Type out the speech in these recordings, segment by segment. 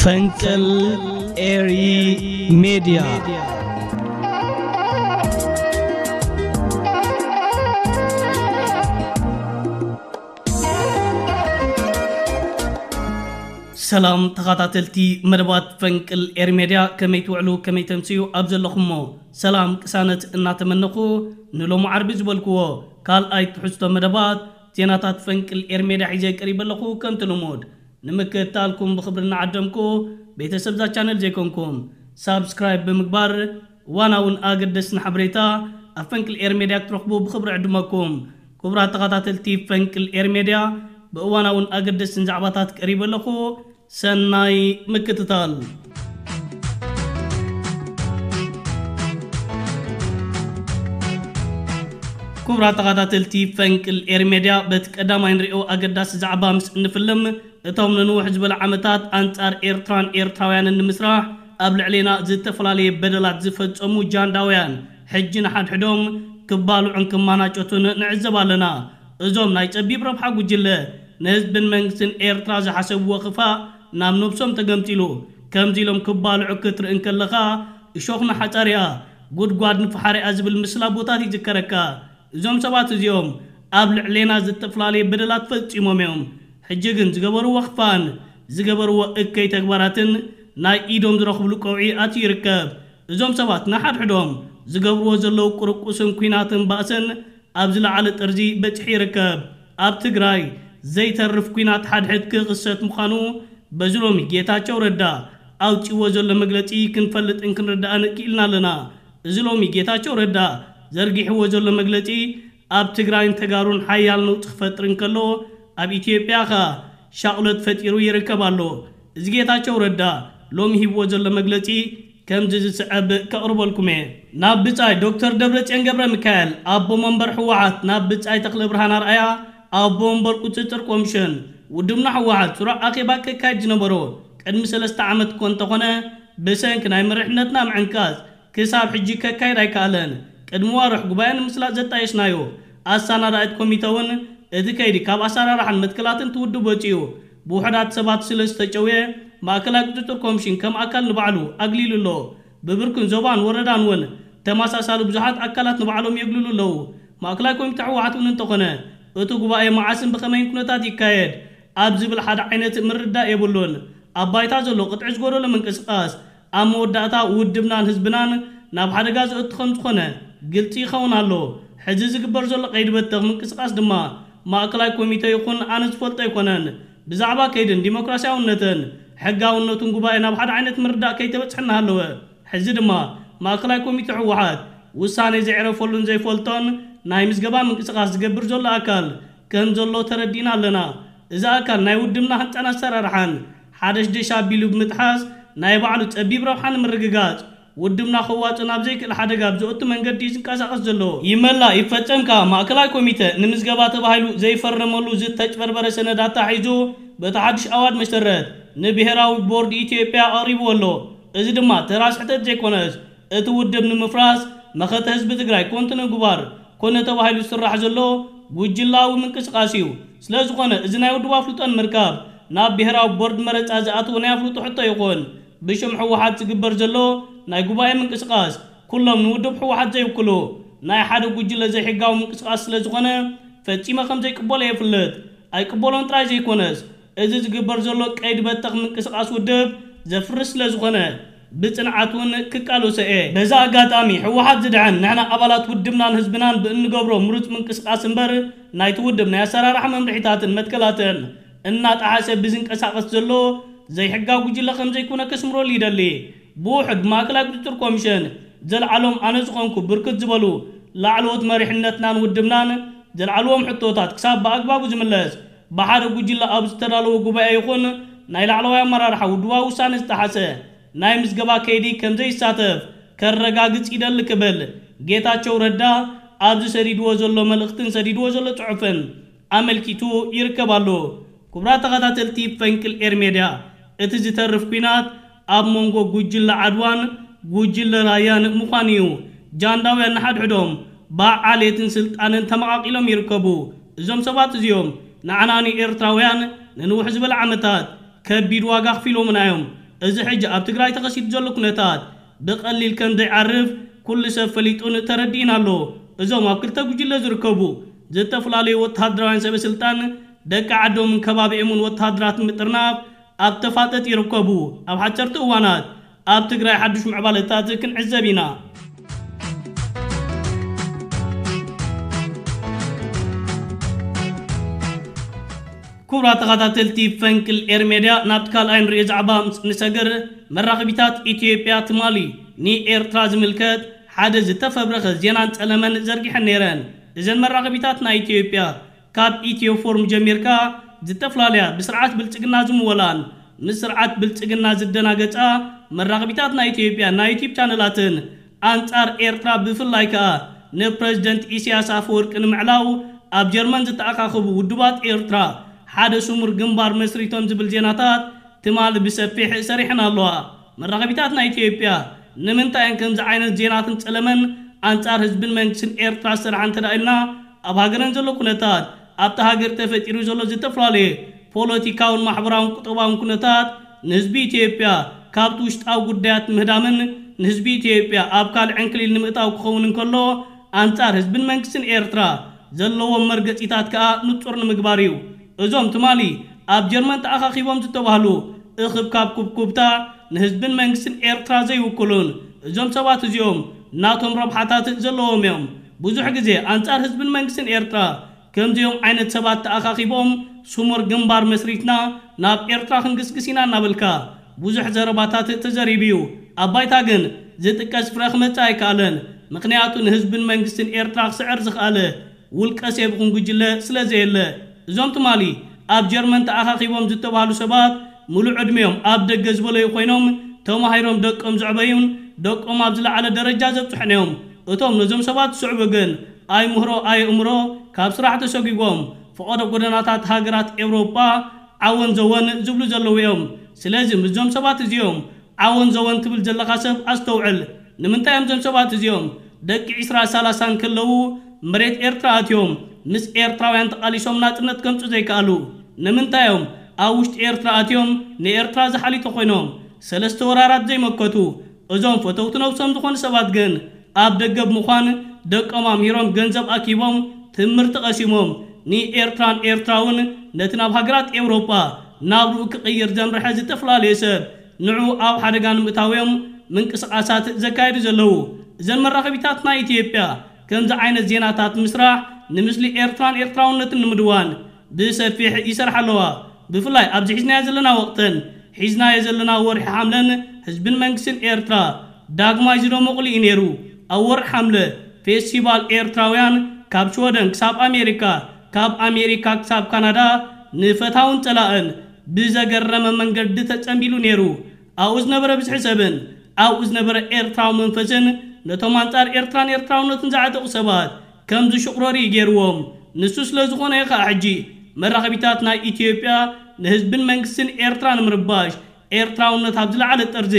ፈንቅል ኤሪ ሜድያ። ሰላም ተኸታተልቲ መደባት ፈንቅል ኤሪ ሜድያ፣ ከመይ ትውዕሉ፣ ከመይ ተምስዩ? ኣብ ዘለኹሞ ሰላም ቅሳነት እናተመነኹ፣ ንሎሚ ዓርቢ ዝበልክዎ ካልኣይ ትሕዝቶ መደባት ዜናታት ፈንቅል ኤሪ ሜድያ ሒዘ ቀሪበ ኣለኹ። ከምቲ ልሙድ ንምክትታልኩም ብኽብሪ እናዓደምኩ፣ ቤተሰብ እዛ ቻነል ዘይኮንኩም ሳብስክራይብ ብምግባር እዋናውን ኣገደስትን ሓበሬታ ኣብ ፈንቅል ኤሪ ሜድያ ክትረኽቡ ብኽብሪ ዕድመኩም። ክቡራት ተኸታተልቲ ፈንቅል ኤሪ ሜድያ፣ ብእዋናውን ኣገደስትን ዛዕባታት ቀሪበ ኣለኹ። ሰናይ ምክትታል። ክቡራት ተኸታተልቲ ፈንቅል ኤሪ ሜድያ፣ በቲ ቀዳማይ ንሪኦ ኣገዳሲ ዛዕባ ምስ እንፍልም፣ እቶም ንንውሕ ዝበለ ዓመታት ኣንጻር ኤርትራን ኤርትራውያንን ንምስራሕ ኣብ ልዕሌና ዝተፈላለየ በደላት ዝፈጸሙ ጃንዳውያን፣ ሕጂ ንሓድሕዶም ክባልዑን ክማናጨቱን ንዕዘብ ኣለና። እዞም ናይ ጸቢብ ረብሓ ጉጅለ፣ ንህዝብን መንግስትን ኤርትራ ዝሓሰብዎ ክፋእ ናብ ነብሶም ተገምጢሉ። ከምዚ ኢሎም ክባልዑ ክትርኢ እንከለኻ፣ እሾኽ ንሓጻር እያ፣ ጉድጓድ ንፈሓር እያ ዝብል ምስላ ኣቦታት ይዝከረካ። እዞም ሰባት እዚኦም ኣብ ልዕሌና ዝተፈላለየ በደላት ፈጺሞም እዮም። ሕጂ ግን ዝገበርዎ ክፋእን ዝገበርዎ እከይ ተግባራትን ናይ ኢዶም ዝረኽብሉ ቀውዒ ኣትዩ ይርከብ። እዞም ሰባት ንሓድሕዶም ዝገብርዎ ዘለዉ ቁርቁስን ኲናትን ባእስን ኣብ ዝለዓለ ጥርዚ በጺሑ ይርከብ። ኣብ ትግራይ ዘይተርፍ ኲናት ሓድሕድ ክኽሰት ምዃኑ በዚ ሎሚ ጌታቸው ረዳ ኣውጺእዎ ዘሎ መግለጺ ክንፈልጥን ክንርዳእን ክኢልና ኣለና። እዚ ሎሚ ጌታቸው ረዳ ዘርጊሕዎ ዘሎ መግለጺ ኣብ ትግራይን ተጋሩን ሓያል ነውጺ ክፈጥር እንከሎ፣ ኣብ ኢትዮጵያ ኸኣ ሻቕሎት ፈጢሩ ይርከብ ኣሎ። እዚ ጌታቸው ረዳ ሎሚ ሂብዎ ዘሎ መግለጺ ከምዚ ዝስዕብ ከቕርበልኩም እየ። ናብ ብጻይ ዶክተር ደብረጽዮን ገብረ ሚካኤል፣ ኣቦ መንበር ህወሓት፣ ናብ ብጻይ ተኽለ ብርሃን ኣርኣያ፣ ኣቦ መንበር ቁጽጽር ኮሚሽን፣ ውድብና ህወሓት ስሩዕ ኣኼባ ከካይድ ዝነበሮ ቅድሚ ሰለስተ ዓመት እኮ እንተኾነ፣ ብሰንኪ ናይ መሪሕነትና ምዕንቃጽ ክሳብ ሕጂ ከካይድ ኣይከኣለን። ቅድሚ ዋርሕ ጉባኤ ንምስላጥ ዘጣየሽናዮ ኣሰናዳኢት ኮሚተ እውን እቲ ከይዲ ካብ ኣሰራርሓን መትከላትን እቲ ውድብ ወጺኡ ብውሑዳት ሰባት ስለ ዝተጨውየ፣ ማእከላይ ቁጽጽር ኮሚሽን ከም ኣካል ንባዕሉ ኣግሊሉ ኣሎ። ብብርክን ዞባን ወረዳን እውን ተመሳሳሊ ብዙሓት ኣካላት ንባዕሎም የግልሉ ኣለዉ። ማእከላይ ኮሚተ ህወሓት እውን እንተኾነ፣ እቲ ጉባኤ መዓስን ብኸመይን ኩነታት ይካየድ ኣብ ዝብል ሓደ ዓይነት ምርዳእ የብሉን። ኣብ ባይታ ዘሎ ቅጥዒ ዝጎደሎ ምንቅስቓስ ኣብ መወዳእታ ውድብናን ህዝብናን ናብ ሓደጋ ዘእቱ ከም ዝኾነ ግልጺ ይኸውን ኣሎ። ሕዚ ዝግበር ዘሎ ቀይዲ በተኽ ምንቅስቓስ ድማ ማእከላይ ኮሚተ ይኹን ኣነ ዝፈልጦ ኣይኮነን። ብዛዕባ ከይድን ዲሞክራሲያውነትን ሕጋውነቱን ጉባኤ ናብ ሓደ ዓይነት ምርዳእ ከይተበጽሐ እናሃለወ፣ ሕዚ ድማ ማእከላይ ኮሚተ ህወሓት ውሳኔ ዘዕረፈሉን ዘይፈልጦን ናይ ምዝገባ ምንቅስቓስ ዝገብር ዘሎ ኣካል ከም ዘሎ ተረዲእና ኣለና። እዚ ኣካል ናይ ውድብና ህንጻን ኣሰራርሓን ሓደሽደሽ ኣቢሉ ብምጥሓስ፣ ናይ ባዕሉ ጸቢብ ረብሓ ንምርግጋጽ፣ ውድብና ከዋጽእ ናብ ዘይክእል ሓደጋ ኣብ ዘእቱ መንገዲ እዩ ዝንቀሳቐስ ዘሎ። ይመላ ይፈጸም ከኣ ማእከላይ ኮሚተ ንምዝገባ ተባሂሉ ዘይፈረመሉ ዝተጭበርበረ ሰነድ ኣታሒዙ፣ በቲ ሓድሽ ኣዋጅ መሰረት ንብሄራዊ ቦርድ ኢትዮጵያ ኣቕሪብዎ ኣሎ። እዚ ድማ ተራ ስሕተት ዘይኮነስ፣ እቲ ውድብ ንምፍራስ፣ መኸተ ህዝቢ ትግራይ ኮንቱ ንምግባር ኮነ ተባሂሉ ዝስራሕ ዘሎ ጉጅላዊ ምንቅስቓስ እዩ። ስለ ዝኾነ፣ እዚ ናይ ውድብ ኣፍልጦ ንምርካብ ናብ ብሄራዊ ቦርድ መረጻ ዝኣትዎ ናይ ኣፍልጦ ሕቶ ይኹን ብሽም ህወሓት ዝግበር ዘሎ ናይ ጉባኤ ምንቅስቓስ፣ ኩሎም ንውድብ ህወሓት ዘይውክሉ ናይ ሓደ ጉጅለ ዘይሕጋዊ ምንቅስቓስ ስለ ዝኾነ፣ ፈጺመ ከም ዘይቅበሎ የፍልጥ። ኣይቅበሎን ጥራይ ዘይኮነስ፣ እዚ ዝግበር ዘሎ ቀይዲ በተኽ ምንቅስቓስ ውድብ ዘፍርስ ስለ ዝኾነ፣ ብጽንዓት እውን ክቃለሶ እየ። በዚ ኣጋጣሚ፣ ህወሓት ዝድሕን ንሕና ኣባላት ውድብናን ህዝብናን ብእንገብሮ ምሩጽ ምንቅስቓስ እምበር፣ ናይቲ ውድብ ናይ ኣሰራርሓ መምርሒታትን መትከላትን እናጠሓሰ ብዝንቀሳቐስ ዘሎ ዘይሕጋዊ ጉጅለ ከም ዘይኮነ ከስምረሉ ይደሊ። ብውሑድ ማእከላይ ቁጽጽር ኮሚሽን ዘልዓሎም ኣነ ዝኾንኩ ብርክት ዝበሉ ላዕለዎት መሪሕነትናን ውድብናን ዘልዓልዎም ሕቶታት ክሳብ ብኣግባቡ ዝምለስ፣ ብሓደ ጉጅለ ኣብ ዝተዳለወ ጉባኤ ይኹን ናይ ላዕለዋይ ኣመራርሓ ውድባዊ ውሳነ ዝጠሓሰ ናይ ምዝገባ ከይዲ ከም ዘይሳተፍ ከረጋግጽ ይደሊ ክብል ጌታቸው ረዳ ኣብዚ ሰዲድዎ ዘሎ መልእኽትን ሰዲድዎ ዘሎ ጽሑፍን ኣመልኪቱ ይርከብ ኣሎ። ክቡራት ተኸታተልቲ ፈንቅል ኤር ሜድያ፣ እቲ ዝተርፍ ኲናት ኣብ መንጎ ጉጅለ ዓድዋን ጉጅለ ራያን ምዃኑ እዩ። ጃንዳውያን ንሓድሕዶም ብዓሌትን ስልጣንን ተመቓቒሎም ይርከቡ። እዞም ሰባት እዚኦም ንዓና ንኤርትራውያን ንንውሕ ዝበለ ዓመታት ከቢድ ዋጋ ኣኽፊሎምና እዮም። እዚ ሕጂ ኣብ ትግራይ ተኸሲቱ ዘሎ ኩነታት ብቐሊል ከም ዘይዓርፍ ኩሉ ሰብ ፈሊጡን ተረዲእን ኣሎ። እዞም ኣብ ክልተ ጉጅለ ዝርከቡ ዝተፈላለዩ ወተሃደራውያን ሰበ ስልጣን ደቂ ዓዶምን ከባቢኦምን ወተሃደራት ንምጥርናፍ ኣብ ተፋጠጥ ይርከቡ። ኣብ ሓፀርቲ እዋናት ኣብ ትግራይ ሓዱሽ ምዕባለታት ክንዕዘብ ኢና። ክቡራት ተኸታተልቲ ፈንቅል ኤር ሜድያ፣ ናብቲ ካልኣይ ንሪኦ ዛዕባ ምስ ንሰግር፣ መራኸቢታት ኢትዮጵያ ትማሊ ንኤርትራ ዝምልከት ሓደ ዝተፈብረኸ ዜናን ጸለመን ዘርጊሐን ነይረን። እዘን መራኸቢታት ናይ ኢትዮጵያ ካብ ኢትዮ ፎርም ጀሚርካ ዝተፈላለያ ብስርዓት ብልጽግና ዝምወላን ምስ ስርዓት ብልጽግና ዝደናገጻ መራኸቢታት ናይ ኢትዮጵያ ናይ ዩቲዩብ ቻነላትን ኣንጻር ኤርትራ ብፍላይ ከኣ ንፕረዚደንት ኢሳያስ ኣፈወርቂ ንምዕላው ኣብ ጀርመን ዝተኣኻኸቡ ውድባት ኤርትራ ሓደ ስሙር ግንባር መስሪቶም ዝብል ዜናታት ትማሊ ብሰፊሕ ሰሪሐን ኣለዋ። መራኸቢታት ናይ ኢትዮጵያ ንምንታይ እየን ከምዚ ዓይነት ዜናትን ጸለመን ኣንጻር ህዝብን መንግስትን ኤርትራ ዝሰርሓ እንተ ደኣ ኢልና፣ ኣብ ሃገረን ዘሎ ኩነታት፣ ኣብታ ሃገር ተፈጢሩ ዘሎ ዝተፈላለየ ፖለቲካውን ማሕበራውን ቁጠባውን ኩነታት ንህዝቢ ኢትዮጵያ ካብቲ ውሽጣዊ ጉዳያት ምህዳምን ንህዝቢ ኢትዮጵያ ኣብ ካልእ ዕንክሊል ንምእታው ክኸውን እንከሎ፣ ኣንጻር ህዝብን መንግስትን ኤርትራ ዘለዎም መርገጺታት ከኣ ንጹር ንምግባር እዩ። እዞም ትማሊ ኣብ ጀርመን ተኣኻኺቦም ዝተባህሉ እኽብካብ ኩብኩብታ ንህዝብን መንግስትን ኤርትራ ዘይውክሉን፣ እዞም ሰባት እዚኦም ናቶም ረብሓታት ዘለዎም እዮም። ብዙሕ ግዜ ኣንጻር ህዝብን መንግስትን ኤርትራ ከምዚኦም ዓይነት ሰባት ተኣኻኺቦም ስሙር ግንባር መስሪትና ናብ ኤርትራ ክንግስግስ ኢና እናበልካ ብዙሕ ዘረባታት ተዘሪቡ እዩ። ኣብ ባይታ ግን ዝጥቀስ ፍረ ክመጽእ ኣይከኣለን። ምኽንያቱ ንህዝብን መንግስትን ኤርትራ ክስዕር ዝኸኣለ ውልቀ ሰብ ይኹን ጉጅለ ስለ ዘየለ። እዞም ትማሊ ኣብ ጀርመን ተኣኻኺቦም ዝተባህሉ ሰባት ምሉእ ዕድሜኦም ኣብ ደገ ዝበለዩ ኮይኖም፣ ተማሂሮም ደቆም ዘዕበዩን ደቆም ኣብ ዝለዓለ ደረጃ ዘብጽሑን እዮም። እቶም ነዞም ሰባት ዝስዕቡ ግን ኣይምህሮ ኣየእምሮ ካብ ስራሕ ተሰጒጎም ፈቐዶ ጎደናታት ሃገራት ኤውሮጳ ዓወን ዘወን ዝብሉ ዘለዉ እዮም። ስለዚ ምስዞም ሰባት እዚኦም ዓወን ዘወን ትብል ዘለኻ ሰብ ኣስተውዕል። ንምንታይ እዮም እዞም ሰባት እዚኦም ደቂ ዒስራ ሰላሳ እንከለዉ መሬት ኤርትራ ኣትዮም ምስ ኤርትራውያን ተቓሊሶም ናጽነት ከምጹ ዘይከኣሉ? ንምንታይ እዮም ኣብ ውሽጢ ኤርትራ ኣትዮም ንኤርትራ ዝሓሊጡ ኮይኖም ሰለስተ ወራራት ዘይመከቱ? እዞም ፈተውቲ ነብሶም ዝኾኑ ሰባት ግን ኣብ ደገ ብምዃን ደቆም ኣምሂሮም ገንዘብ ኣኪቦም ትምህርቲ ቀሲሞም ንኤርትራን ኤርትራውን ነቲ ናብ ሃገራት ኤውሮጳ ናብርኡ ክቕይር ዘምርሐ ዝተፈላለየ ሰብ ንዑ ኣብ ሓደጋ ንምእታው እዮም ምንቅስቓሳት ዘካየዱ ዘለዉ። እዘን መራኸቢታት ናይ ኢትዮጵያ ከምዚ ዓይነት ዜናታት ምስራሕ ንምስሊ ኤርትራን ኤርትራውነትን ንምድዋን ብሰፊሕ ይሰርሓ ኣለዋ። ብፍላይ ኣብዚ ሒዝናዮ ዘለና ወቕትን ሒዝናዮ ዘለና ወርሒ ሓምለን ህዝብን መንግስትን ኤርትራ ዳግማይ ዝደመቑሉ እዩ ነይሩ። ኣብ ወርሒ ሓምለ ፌስቲቫል ኤርትራውያን ካብ ሽወደን ክሳብ ኣሜሪካ፣ ካብ ኣሜሪካ ክሳብ ካናዳ ንፈታውን ጸላእን ብዘገረመ መንገዲ ተጸንቢሉ ነይሩ። ኣብኡ ዝነበረ ብዝሒ ሰብን ኣብኡ ዝነበረ ኤርትራዊ መንፈስን ነቶም ኣንጻር ኤርትራን ኤርትራውነትን ዝዓጠቑ ሰባት ከም ዝሽቑረሩ እዩ ገይርዎም። ንሱ ስለ ዝኾነ እዩ ኸኣ ሕጂ መራኸቢታት ናይ ኢትዮጵያ ንህዝብን መንግስትን ኤርትራ ንምርባሽ ኤርትራውነት ኣብ ዝለዓለ ጠርዚ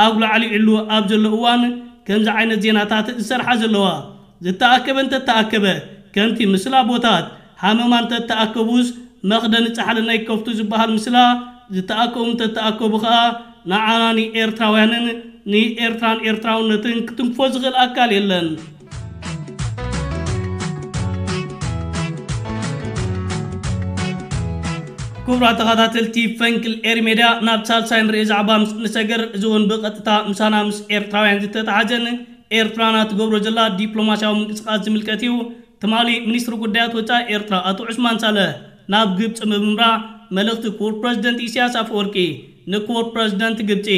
ኣጉላዕሊዕሉ ኣብ ዘሎ እዋን ከምዚ ዓይነት ዜናታት ዝሰርሓ ዘለዋ። ዝተኣከበ እንተተኣከበ ከምቲ ምስላ ኣቦታት ሃመማ እንተተኣከቡስ መኽደኒ ጻሕሊ ናይ ከፍቱ ዝበሃል ምስላ ዝተኣከቡ እንተተኣከቡ ኸኣ ንዓና ንኤርትራውያንን ንኤርትራን ኤርትራውነትን ክትንክፎ ዝኽእል ኣካል የለን። ክቡራት ተኸታተልቲ ፈንቅል ኤሪ ሜድያ፣ ናብ ሳልሳይ ንርኢ ዛዕባ ምስ ንሰገር፣ እዚ እውን ብቐጥታ ምሳና ምስ ኤርትራውያን ዝተተሓዘን ኤርትራና ትገብሮ ዘላ ዲፕሎማስያዊ ምንቅስቓስ ዝምልከት እዩ። ትማሊ ሚኒስትሪ ጉዳያት ወጻኢ ኤርትራ ኣቶ ዑስማን ሳልሕ ናብ ግብጺ ብምምራሕ መልእኽቲ ክቡር ፕረዚደንት ኢሳያስ ኣፈወርቂ ንክቡር ፕረዚደንት ግብጺ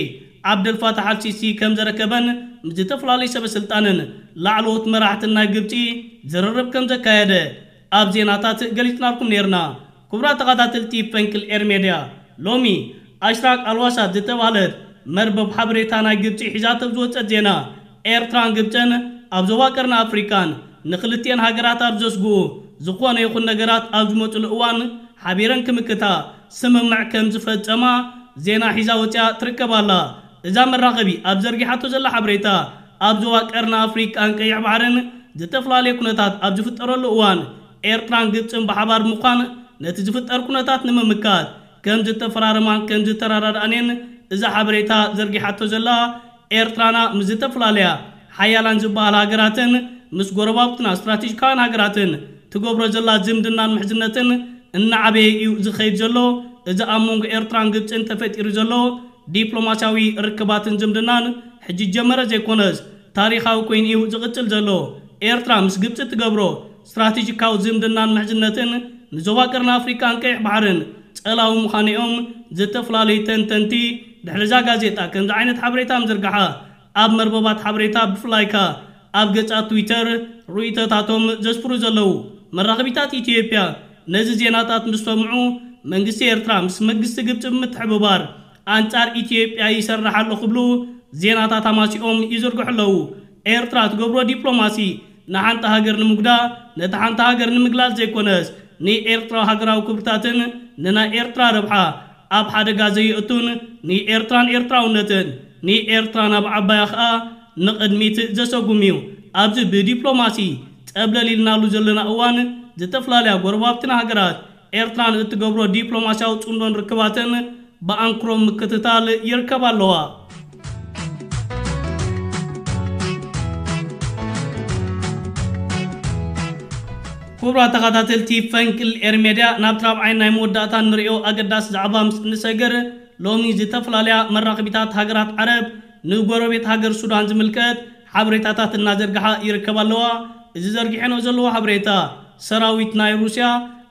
ዓብደልፋታሕ ኣልሲሲ ከም ዘረከበን ምስ ዝተፈላለዩ ሰበ ስልጣንን ላዕለዎት መራሕትን ናይ ግብጺ ዝርርብ ከም ዘካየደ ኣብ ዜናታት ገሊጽናልኩም ነይርና። ክቡራት ተኸታተልቲ ፈንቅል ኤር ሜድያ፣ ሎሚ ኣሽራቅ ኣልዋሳት ዝተባህለት መርበብ ሓበሬታ ናይ ግብጺ ሒዛቶ ዝወጸት ዜና፣ ኤርትራን ግብጽን ኣብ ዞባ ቀርኒ ኣፍሪቃን ንክልቲኤን ሃገራት ኣብ ዘስግኡ ዝኾነ ይኹን ነገራት ኣብ ዝመጽሉ እዋን ሓቢረን ክምክታ ስምምዕ ከም ዝፈጸማ ዜና ሒዛ ወጺኣ ትርከብ ኣላ። እዛ መራኸቢ ኣብ ዘርጊሓቶ ዘላ ሓበሬታ፣ ኣብ ዞባ ቀርኒ ኣፍሪቃን ቀይሕ ባሕርን ዝተፈላለየ ኩነታት ኣብ ዝፍጠረሉ እዋን፣ ኤርትራን ግብጽን ብሓባር ምዃን ነቲ ዝፍጠር ኩነታት ንምምካት ከም ዝተፈራረማን ከም ዝተረዳድኣንን እዛ ሓበሬታ ዘርጊሓቶ ዘላ፣ ኤርትራና ምስ ዝተፈላለያ ሓያላን ዝበሃላ ሃገራትን ምስ ጎረባብትና ስትራቴጂካውያን ሃገራትን ትገብሮ ዘላ ዝምድናን ምሕዝነትን እናዓበየ እዩ ዝኸይድ ዘሎ። እዚ ኣብ መንጎ ኤርትራን ግብጽን ተፈጢሩ ዘሎ ዲፕሎማስያዊ ርክባትን ዝምድናን ሕጂ ጀመረ ዘይኮነስ ታሪኻዊ ኮይኑ እዩ ዝቕጽል ዘሎ። ኤርትራ ምስ ግብጺ ትገብሮ ስትራቴጂካዊ ዝምድናን ምሕዝነትን ንዞባ ቀርኒ ኣፍሪቃን ቀይሕ ባሕርን ጸላዊ ምዃኑ እዮም ዝተፈላለዩ ተንተንቲ ድሕሪ እዛ ጋዜጣ ከምዚ ዓይነት ሓበሬታ ምዝርጋሓ ኣብ መርበባት ሓበሬታ ብፍላይ ከኣ ኣብ ገጻት ትዊተር ርእይቶታቶም ዘስፍሩ ዘለዉ። መራኸቢታት ኢትዮጵያ ነዚ ዜናታት ምስ ሰምዑ መንግስቲ ኤርትራ ምስ መንግስቲ ግብጺ ብምትሕብባር ኣንጻር ኢትዮጵያ ይሰርሕ ኣሎ ክብሉ ዜናታት ኣማሲኦም ይዝርግሑ ኣለዉ። ኤርትራ ትገብሮ ዲፕሎማሲ ንሓንቲ ሃገር ንምጉዳ ነቲ ሓንቲ ሃገር ንምግላል ዘይኮነስ ንኤርትራ ሃገራዊ ክብርታትን ንናይ ኤርትራ ረብሓ ኣብ ሓደጋ ዘየእቱን ንኤርትራን ኤርትራውነትን ንኤርትራ ናብ ዓባያ ኸኣ ንቕድሚት ዘሰጉም እዩ። ኣብዚ ብዲፕሎማሲ ጸብለል ኢልናሉ ዘለና እዋን ዝተፈላለያ ጎረባብትና ሃገራት ኤርትራን እትገብሮ ዲፕሎማስያዊ ጽምዶን ርክባትን ብኣንክሮ ምክትታል ይርከባ ኣለዋ። ክቡራት ተኸታተልቲ ፈንቅል ኤር ሜድያ፣ ናብቲ ራብዓይ ናይ መወዳእታ ንሪኦ ኣገዳሲ ዛዕባ ምስ እንሰግር፣ ሎሚ ዝተፈላለያ መራኸቢታት ሃገራት ዓረብ ንጎረቤት ሃገር ሱዳን ዝምልከት ሓበሬታታት እናዘርግሓ ይርከባ ኣለዋ። እዚ ዘርጊሐንኦ ዘለዎ ሓበሬታ፣ ሰራዊት ናይ ሩስያ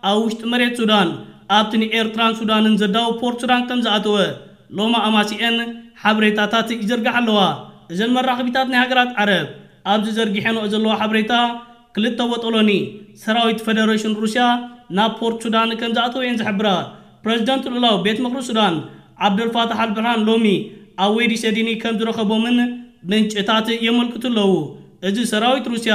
ኣብ ውሽጢ መሬት ሱዳን ኣብቲ ንኤርትራን ሱዳንን ዘዳውብ ፖርት ሱዳን ከም ዝኣተወ ሎሚ ኣማሲአን ሓበሬታታት ይዘርግሓ ኣለዋ። እዘን መራኸቢታት ናይ ሃገራት ዓረብ ኣብዚ ዘርጊሐንኦ ዘለዋ ሓበሬታ፣ ክልተ ቦጦሎኒ ሰራዊት ፈደረሽን ሩስያ ናብ ፖርት ሱዳን ከም ዝኣተወ እየን ዝሕብራ። ፕረዚደንት ልኡላዊ ቤት ምኽሪ ሱዳን ዓብደልፋታሕ ኣልብርሃን ሎሚ ኣብ ወይዲ ሰዲኒ ከም ዝረኸቦምን ምንጭታት የመልክቱ ኣለዉ። እዚ ሰራዊት ሩስያ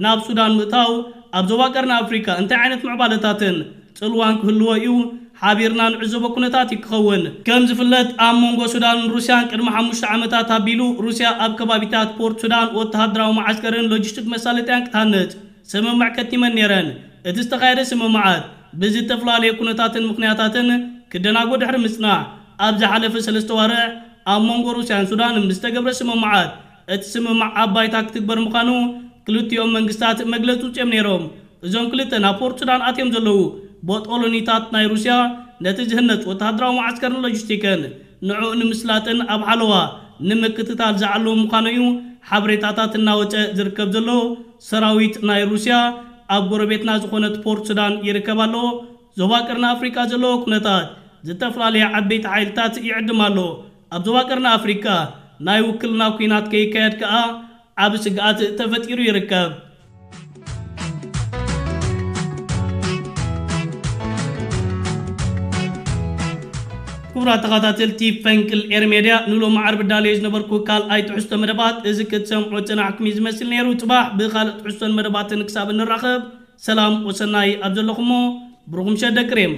ናብ ሱዳን ምእታው ኣብ ዞባ ቀርኒ ኣፍሪካ እንታይ ዓይነት ምዕባለታትን ጽልዋን ክህልዎ እዩ? ሓቢርና ንዕዘቦ ኩነታት እዩ ክኸውን። ከም ዝፍለጥ፣ ኣብ መንጎ ሱዳንን ሩስያን ቅድሚ ሓሙሽተ ዓመታት ኣቢሉ ሩስያ ኣብ ከባቢታት ፖርት ሱዳን ወተሃደራዊ መዓስከርን ሎጂስቲክ መሳለጥያን ክትሃንጽ ስምምዕ ከቲመን ነይረን። እቲ ዝተኻየደ ስምምዓት ብዝተፈላለየ ኩነታትን ምኽንያታትን ክደናጎ ድሕሪ ምጽናሕ፣ ኣብ ዝሓለፈ ሰለስተ ዋርሕ ኣብ መንጎ ሩስያን ሱዳንን ብዝተገብረ ስምምዓት፣ እቲ ስምምዕ ኣብ ባይታ ክትግበር ምዃኑ ክልቲኦም መንግስታት መግለጺ ውጽኦም ነይሮም። እዞም ክልተ ናብ ፖርት ሱዳን ኣትዮም ዘለዉ ቦጦሎኒታት ናይ ሩስያ፣ ነቲ ዝህነጽ ወተሃደራዊ መዓስከርን ሎጂስቲክን ንዕኡ ንምስላጥን ኣብ ሓለዋ ንምክትታል ዝዓለሙ ምዃኑ እዩ ሓበሬታታት እናወጸ ዝርከብ ዘሎ። ሰራዊት ናይ ሩስያ ኣብ ጎረቤትና ዝኾነት ፖርት ሱዳን ይርከብ ኣሎ። ዞባ ቀርኒ ኣፍሪቃ ዘለዎ ኩነታት ዝተፈላለየ ዓበይቲ ሓይልታት ይዕድም ኣሎ። ኣብ ዞባ ቀርኒ ኣፍሪቃ ናይ ውክልና ኲናት ከይካየድ ከኣ ዓቢ ስግኣት ተፈጢሩ ይርከብ። ክቡራት ተኸታተልቲ ፈንቅል ኤር ሜድያ፣ ንሎሚ ዓርቢ ዳልዮ ዝነበርኩ ካልኣይ ትሕዝቶ መደባት እዚ ክትሰምዑ ጽናሕኩም እዩ ዝመስል ነይሩ። ጽባሕ ብኻልእ ትሕዝቶን መደባትን ክሳብ እንራኸብ፣ ሰላም ወሰናይ ኣብ ዘለኹሞ፣ ብሩኽ ምሸት ደቂ ሬም።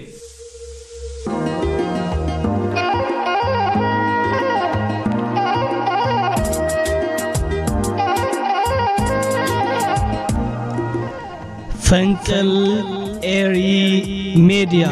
ፈንቅል ኤሪ ሜድያ።